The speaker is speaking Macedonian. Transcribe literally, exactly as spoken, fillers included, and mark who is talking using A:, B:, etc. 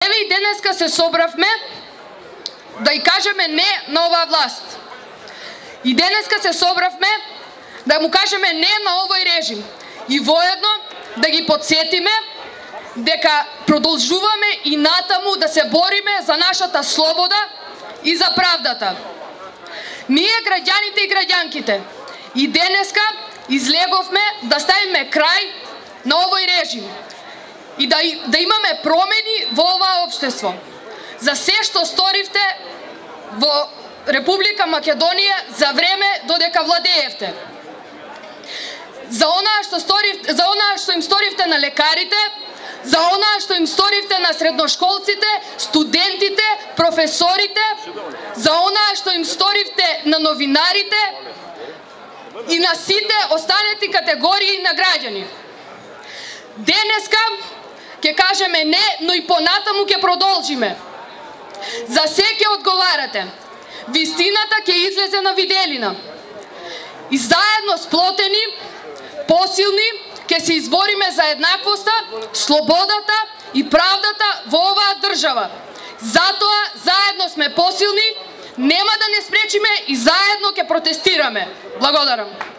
A: Еве и денеска се собравме да и кажеме не на оваа власт. И денеска се собравме да му кажеме не на овој режим. И воедно да ги подсетиме дека продолжуваме и натаму да се бориме за нашата слобода и за правдата. Ние, граѓаните и граѓанките, и денеска излеговме да ставиме крај на овој режим и да, да имаме промени во оваа општество. За се што сторивте во Република Македонија за време додека владеевте. За онаа што сторивте, за онаа што им сторивте на лекарите, за онаа што им сторивте на средношколците, студентите, професорите, за онаа што им сторивте на новинарите и на сите останати категории на граѓани. Денеска ќе кажеме не, но и понатаму ќе продолжиме. За се ќе одговарате. Вистината ќе излезе на виделина. И заедно сплотени, посилни, ќе се избориме за еднаквоста, слободата и правдата во оваа држава. Затоа заедно сме посилни, нема да не спречиме и заедно ќе протестираме. Благодарам.